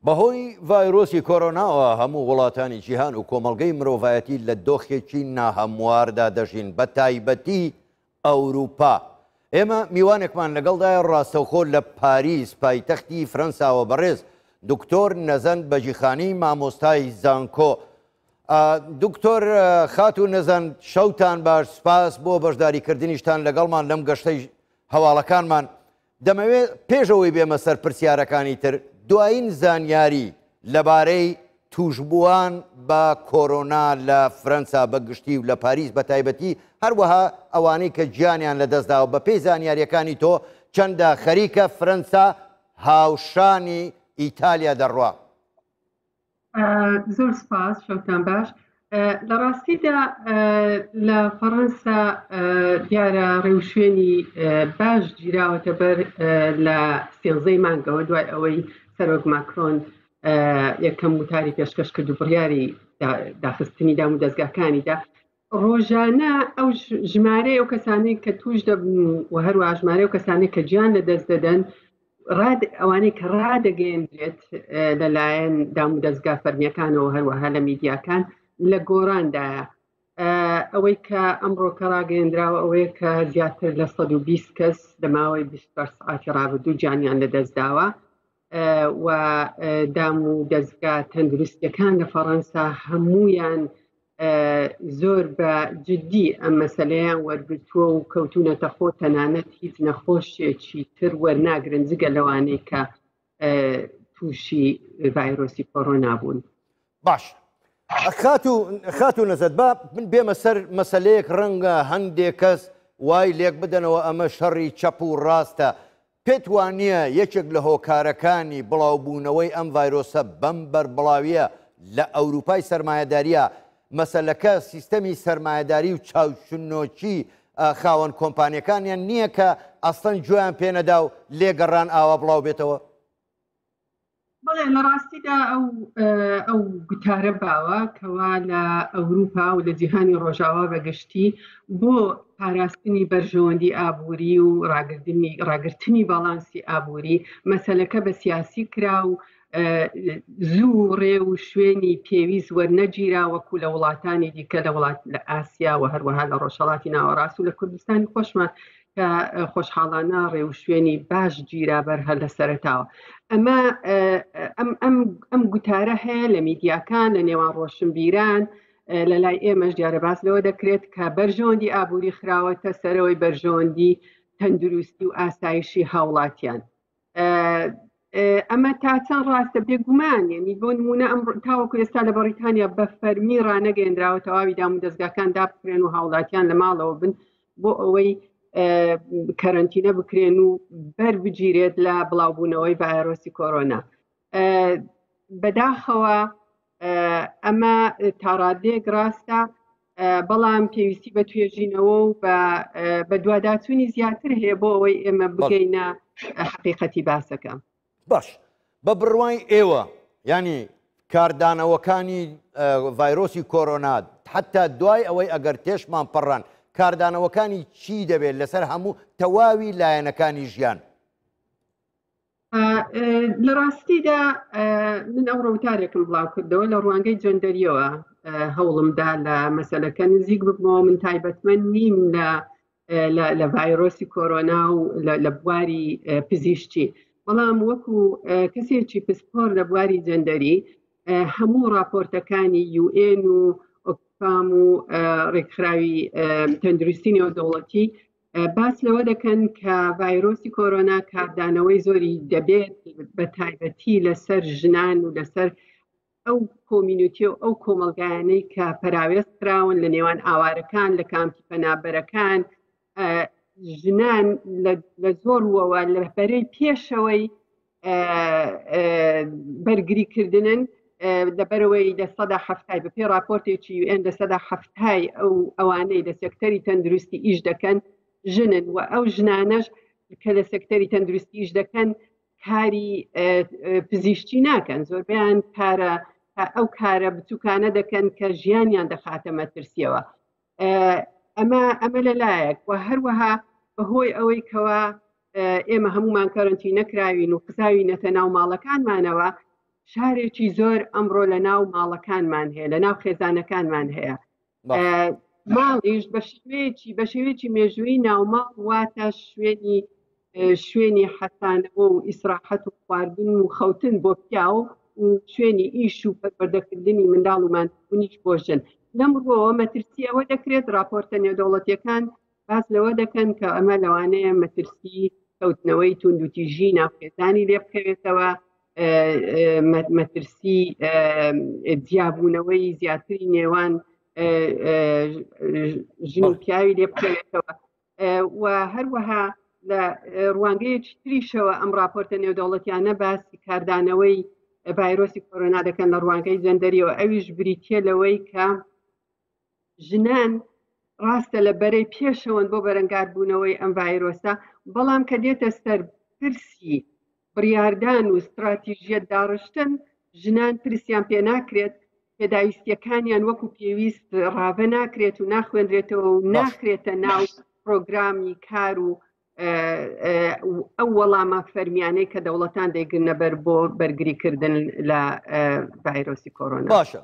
بەهۆی ڤایرۆسی کۆرۆناوە هەموو وڵاتانی جیهان و کۆمەڵگەی مرۆڤایەتی لە دۆخێکی ناهەمواردا دەژین بە تایبەتی ئەوروپا. ئێمە میوانێکمان لەگەڵدایە ڕاستەوخۆ لە پاریس پایتەختی فرەنساوە بەڕێز دکتۆر نەزەند بەجیخانی مامۆستای زانکۆ. دکتۆر خاتوو نەزەند شەوتان باش سپاس بۆ بەشداریکردنیشتان لەگەڵمان لەم گەشتەی هەواڵەکانمان. دەمەوێت پێش ئەوەی بێمە سەر پرسیارەکانی تر، دوایین زانیاری لەبارەی تووشبووان بە کۆرۆنا لە فرەنسا بە گشتی و لە پاریس بە تایبەتی، هەروەها ئەوانەی کە گیانیان لەدەستداوە، بەپێی زانیارییەکانی تۆ چەندە خەریکە فرەنسا هاوشانی ئیتالیا دەڕوا؟ زۆر سپاس شەوتان باش لە ڕاستیدا لە فەڕەنسا دیارە ڕێوشوێنی باش گیراوەتە بەر لە سێزەی مانگەوە دوای ئەوەی سەرۆک ماکرۆن یەکەم وتاری پێشکەش کرد و بڕیاری داخستنی دام و دەستگاکانیدا ڕۆژانە ئەو ژمارەی ئەو کەسانەی کە توش دەبن و هەروە ژمارە و کەسانێک کە گیان لە دەست دەدەن ئەوانەی کە ڕادەگەیەندرێت لەلایەن دام و دەستگا فەرمیەکانەوە هەروەها لە میدیاکان لە گۆڕاندایە ئەوەی کە ئەمڕۆ کە ڕاگەیەندراوە ئەوەیە کە زیاتر لە 120 کەس لە ماوەی 24 سعاتی ڕابردوو گیانیان لەدەستداوە و دام و دەستگا تەندروستیەکان لە فەڕەنسا هەمویان زۆر بە جددی ئەم مەسلەیان وەرگتووە و کەوتونەتە خۆ تەنانەت هیچ نەخۆشیێکی تر وەرناگرن جگە لەوانەی کە تووشی ڤایرۆسی کۆرۆنا بوون. باش خاتوو خاتوو نەزەت با من بێمە سەر مەسلەیەک ڕەنگە هەندێک کەس وای لێک بدەنەوە ئەمە شەڕی چەپ و ڕاستە پێت وانییە یەکێک لە هۆکارەکانی بڵاوبوونەوەی ئەم ڤایرۆسە بەم بەربڵاوییە لە ئەوروپای سەرمایەدارییە، مەسەلەکە سیستەمی سەرمایەداری و چاوچنۆکی خاوەن کۆمپانیەکانیان نییە کە ئەسڵەن گوێیان پێنەدا و لێگەڕان ئاوا بڵاو بێتەوە؟ بەڵێ لە ڕاستیدا ئەو ئەو گوتارە باوە کەوا لە ئەوروپا و لە جیهانی ڕۆژاوا بەگشتی بۆ پاراستنی بەرژەوەندی ئابووری و ڕاگرتنی ڕاگرتنی باڵانسی ئابووری مەسەلەکە بە سیاسی کرا و زوو ڕێ و شوێنی پێویست وەرنەگیرا وەکو لە وڵاتانی دیکە لە وڵات لە ئاسیا و هەروەها لە ڕۆژهەڵاتی ناوەڕاست و لە کوردستانی خۆشمان کە خۆشحاڵانە ڕێوشوێنی باش گیرا بەر هەر لە سەرەتاوە ئەمە ئەم ئەم ئەم گوتارە هەیە لە میدیاکان لە نێوان ڕۆشنبیران لە لای ئێمەش دیارە باس لەوە دەکرێت کە بەرژەوەندی ئابووری خراوەتە سەرەوەی بەرژەوەندی تەندروستی و ئاسایشی هاوڵاتیان ئەمە تا چەند ڕاستە بێگومان یعنی بۆ نمونە ئەم تاوەکو ئێستا لە بەڕیتانیا بە فەرمی ڕانەگەیەندراوە تەواوی دام و دەستگاکان دابخرێن و هاوڵاتیان لە ماڵەوە بن بۆ ئەوەی کەرەنتینە بکرێن و بەر بگیرێت لە بڵاوبوونەوەی ڤایرۆسی کۆرۆنا بەداخەوە ئەمە تاڕادەیەک ڕاستە بەڵام پێویستی بە توێژینەوە و بە دواداچوونی زیاتر هەیە بۆ ئەوەی ئێمە بگەینە حقیقەتی باسەکە. باش بە بڕوای ئێوە ینی کاردانەوەکانی ڤایرۆسی کۆرۆنا حتا دوای ئەوەی ئەگەر تێشمان پەڕان کاردانەوەکانی چی دەبێت لەسەر هەموو تەواوی لایەنەکانی ژیان؟ لە ڕاستیدا من ئەو ڕوتارێکم بڵاو کردەوە لە ڕوانگەی جەندەریەوە هەوڵمدا لە مەسلەکە نزیک ببمەوە من تایبەتمەند نیم لە لە ڤایرۆسی کۆرۆنا و لە بواری پزیشتی بەڵام وەکو کەسێکی پسپۆر لە بواری جەندەری هەموو راپۆرتەکانی UN و ئۆکسفام و ڕێکخراوی تەندروستی نێودەوڵەتی باس لەوە دەکەن کە ڤایرۆسی کۆرۆنا کاردانەوەی زۆری دەبێت بە تایبەتی لەسەر ژنان و لەسەر ئەو کۆمینوتی و ئەو کۆمەلگایانەی کە پەراوێز کراون لە نێوان ئاوارەکان لە کامپی پەنابەرەکان ژنان لە زۆر ڕووەوە لە بەرەی پێشەوەی بەرگریکردنن لەبەرەوەی 70% بە پێ راپۆرتێکی UN 70% ئەو ئەوانەی لە سێکتەری تەندروستی ئیش دەکەن ژنن و ئەو ژنانەش کە لە سێکتەری تەندروستی ئیش دەکەن کاری پزیشتی ناکەن زۆربیان کارە ئەو کارە بچووکانە دەکەن کە ژیانیان دەخاتە مەترسیەوە ئەمە ئەمە لەلایەک و هەروەها بەهۆی ئەوەی کەوا ئێمە هەمومان کەرنتی نەکراوین و قزاوینەتە ناو ماڵەکانمانەوە. فشارێکی زۆر ئەمڕۆ لە ناو ماڵەکانمان هەیە لە ناو خێزانەکانمان هەیە ماڵیش بە شێوەیەکی بە شێوەیەکی مێژووی ناوماڵ واتە شوێنی شوێنی حەسانەوە و ئیسراحەت و خواردن و خەوتن بۆ پیاو و شوێنی ئیش و پەروەردەکردنی منداڵ و ماندووبوونیش بۆ ژن. لەم ڕووەوە مەترسی ئەوە دەکرێت ڕاپۆرتە نێودەوڵەتییەکان باس لەوە دەکەن کە ئەمە لەوانەیە مەترسی کەوتنەوەی توندوتیژی ناوخێزانی لێ بکەوێتەوە، مەترسی جیابوونەوەی زیاتری نێوان ژن و پیاوی لێ بکەوێتەوە. و هەروەها لە ڕوانگەیەکی تریشەوە ئەم راپۆرتە نێودەوڵەتیانە باسی کاردانەوەی ڤایرۆسی کۆرۆنا دەکەن لە ڕوانگەی جەندەریەوە ئەویش بریتە لەوەی کە ژنان ڕاستە لە بەرەی پێشەوەن بۆ بەرەنگاربوونەوەی ئەم ڤایرۆسە بەڵام کە دێتە سەر پرسی بڕیاردان و ستراتیژیەت داڕشتن ژنان پرسیان پێ ناکرێت پێداویستیەکانیان وەکو پێویست ڕاڤە ناکرێت و ناخوێندرێتەوە و ناخرێتە ناو پرۆگرامی کار و ئەو وەڵامە فەرمیانەی کە دەوڵەتان دەیگرنە بەر بۆ بەرگریکردن لە ڤایرۆسی کۆرۆنا. باشە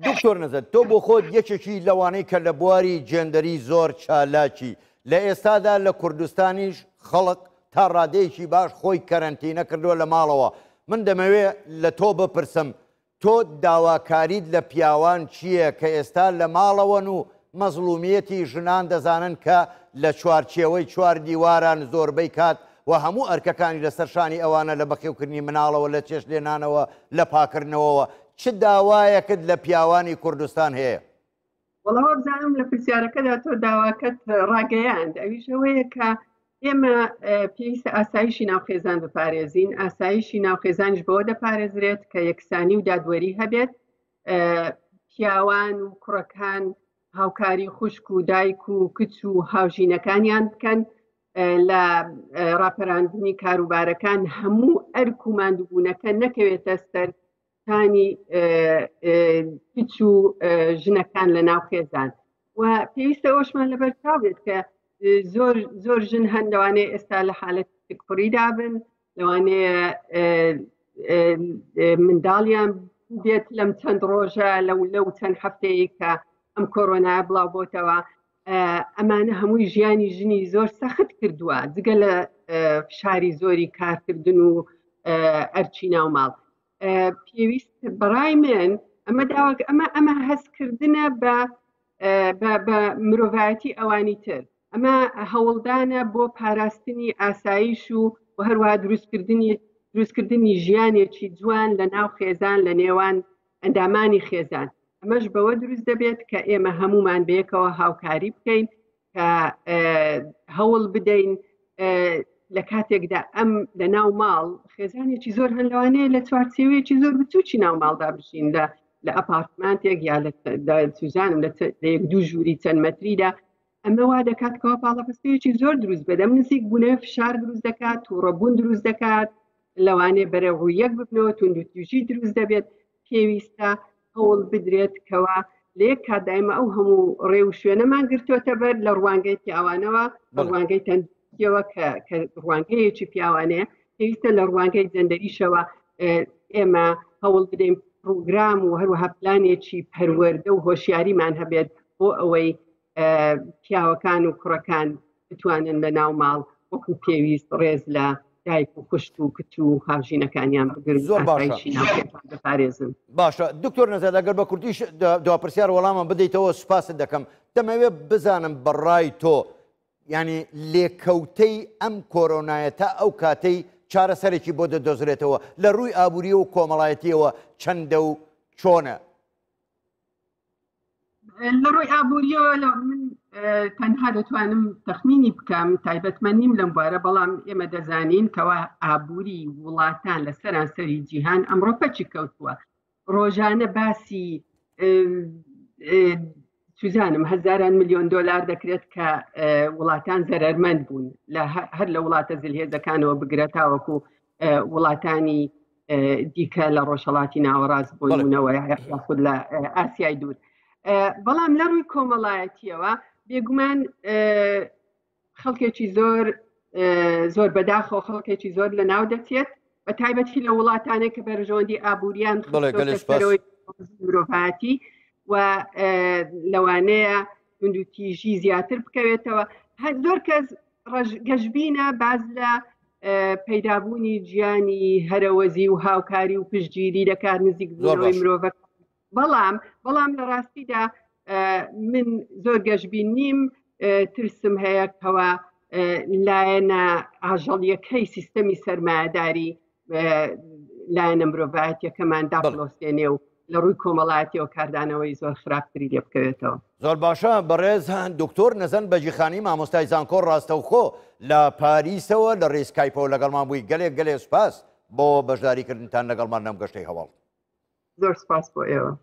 دکتۆر نەزەر تۆ بۆ خۆت یەکێکی لەوانەی کە لە بواری جێندەری زۆر چالاکی لە ئێستادا لە کوردستانیش خەڵک تا ڕادەیەکی باش خۆی کەرەنتینە کردووە لە ماڵەوە من دەمەوێ لە تۆ بپرسم تۆ داواکاریت لە پیاوان چییە کە ئێستا لە ماڵەوەن و مەزڵومیەتی ژنان دەزانن کە لە چوارچێوەی چوار دیواران زۆربەی کات و هەموو ئەرکەکانی لەسەر شانی ئەوانە لە بەخێوکردنی مناڵەوە لە چێشتلێنانەوە لە پاکردنەوەوە چ داوایەکت لە پیاوانی کوردستان هەیە؟ وەڵا وابزانم لە پرسیارەکەدا تۆ داواکەت ڕاگەیاند ئەویش ئەوەیە کە ئێمە پێویستە ئاسایشی ناو خێزان بپارێزین ئاسایشی ناو خێزانیش بەوە دەپارێزرێت کە یەکسانی و دادوەری هەبێت پیاوان و کوڕەکان هاوکاری خوشک و دایک و کچ و هاوژینەکانیان بکەن لە ڕاپەراندنی کاروبارەکان هەموو ئەرک و ماندووبوونەکە نەکەوێتە سەر تانی کچ و ژنەکان لە ناو خێزان و پێویستە ئەوشمان لەبەر چاو بێت کە زۆر زۆر ژن هەن لەوانەیە ئێستا لە حالەت کوڕیدا بن لەوانەیە منداڵیان بێت لەم چەند ڕۆژە لەو لەو چەند هەفتەیە کە ئەم کۆرۆنا بڵاو بۆتەوە ئەمانە هەمووی ژیانی ژنی زۆر سەخت کردووە جگە لە فشاری زۆری کارکردن و ئەرچی ناوماڵ پێویست بەڕای من ئەمە داواک ئەمە ئەمە هەستکردنە بە بە مرۆڤایەتی ئەوانی تر ئەمە هەوڵدانە بۆ پاراستنی ئاسایش و و هەروەها دروستکردنی دروستکردنی ژیانێکی جوان لە ناو خێزان لە نێوان ئەندامانی خێزان ئەمەش بەوە دروست دەبێت کە ئێمە هەمومان بەیەکەوە هاوکاری بکەین کە هەوڵ بدەین لە کاتێکدا ئەم لە ناو ماڵ خێزانێکی زۆر هەن لەوانەیە لە چوارچێوەیەکی زۆر بچووکی ناو ماڵدا بژین لە لە ئەپارتمانتێک یا لە سوزانم لە یەک دوو ژووری چەند مەتریدا ئەمە وا دەکات کەوا پاڵەپەستەیەکی زۆر دروست بێت ئەم نزیک بوونەوە فشار دروست دەکات تووڕەبوون دروست دەکات لەوانەیە بەرەو ڕووی یەک ببنەوە توندوتیژی دروست دەبێت پێویستە هەوڵ بدرێت کەوا لە یەک کاتدا ئێمە ئەو هەموو ڕێ و شوێنەمان گرتووەتە بەر لە ڕوانگەی پیاوانەوە لە ڕوانگەی تەندروستیەوە کە کە ڕوانگەیەکی پیاوانەیە پێویستە لە ڕوانگەی جەندەریشەوە ئێمە هەوڵ بدەین پرۆگرام و هەروەها پلانێکی پەروەردە و هۆشیاریمان هەبێت بۆ ئەوەی پیاوەکان و کوڕەکان بتوانن لە ناو ماڵ وەکو پێویست ڕێز لە دایک و خوشک و کچ و هاوژینەکانیان بگرن زۆر باشە بپارێزن. باشە دکتۆر نەزاد ئەگەر بە کورتیش دوا پرسیار وەڵامم بدەیتەوە سوپاست دەکەم دەمەوێت بزانم بەڕای تۆ یعنی لێکەوتەی ئەم کۆرۆنایە تا ئەو کاتەی چارەسەرێکی بۆ دەدۆزرێتەوە لە ڕووی ئابووری و کۆمەڵایەتیەوە چەندە و چۆنە؟ لە ڕووی ئابووریەوە لە من تەنها دەتوانم تەخمینی بکەم تایبەتمەند نیم لەم بوارە بەڵام ئێمە دەزانین کەوا ئابووری وڵاتان لە سەرانسەری جیهان ئەمڕۆ پەچی کەوتووە ڕۆژانە باسی سوزانم هەزاران میلیۆن دلار دەکرێت کە وڵاتان زەرمەند بوون لە هەر لە وڵاتە زلهێزەکانەوە بگرە تاوەکو وڵاتانی دیکە لە ڕۆژهڵاتی ناوەڕاست بۆ نمونەوە یاخود لە ئاسیای دوور بەڵام لە ڕووی کۆمەڵایەتیەوە بێگومان خەڵکێکی زۆر زۆر بەداخەوە خەڵکێکی زۆر لە ناو دەچێت. بە تایبەتی لە وڵاتانێک کە بەرژەوەندی ئابووریان خستۆتە مرۆڤایەتی و لەوانەیە توندوتیژی زیاتر بکەوێتەوە. هەر زۆر کەس گەشبینە باز لە پەیدابوونی گیانی هەرەوەزی و هاوکاری و پشتگیری دەکات، نزیک بوونەوەی مرۆڤە، بەڵام لە ڕاستیدا من زۆر گەشبین نیم. ترسم هەیە کەوا لایەنە ئاژەڵیەکەی سیستەمی سەرمایەداری لایەنە مرۆڤایەتیەکەمان داپڵۆسێنێ و لە ڕووی کۆمەڵایەتیەوە کاردانەوەی زۆر خراپتری لێ بکەوێتەوە. زۆر باشە بەڕێز دکتۆر نەزەند بەگیخانی مامۆستای زانکۆ ڕاستەوخۆ لە پاریسەوە لە ڕێی سکایپەوە لەگەڵمان بووی، گەلێک گەلێ سوپاس بۆ بەشداریکردنتان لەگەڵمان لەم گەشتەی هەواڵ. زۆر سپاس بۆ ئێوە.